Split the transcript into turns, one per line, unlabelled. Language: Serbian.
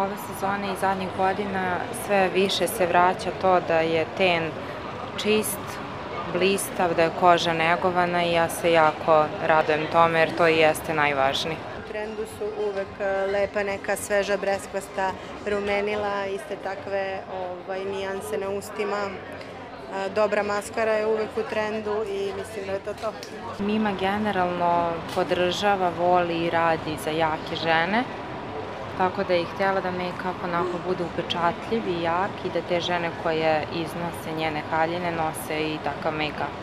ove sezone i zadnjih godina sve više se vraća to da je ten čist, blistav, da je koža negovana i ja se jako radujem tome jer to i jeste najvažnije.
U trendu su uvek lepa neka sveža breskvasta rumenila, iste takve nijanse na ustima. Dobra maskara je uvek u trendu i mislim da je to to.
Mima generalno podržava, voli i radi za jake žene, tako da je htjela da make-up onako bude upečatljiv i jak i da te žene koje iznose njene haljine nose i takav make-up.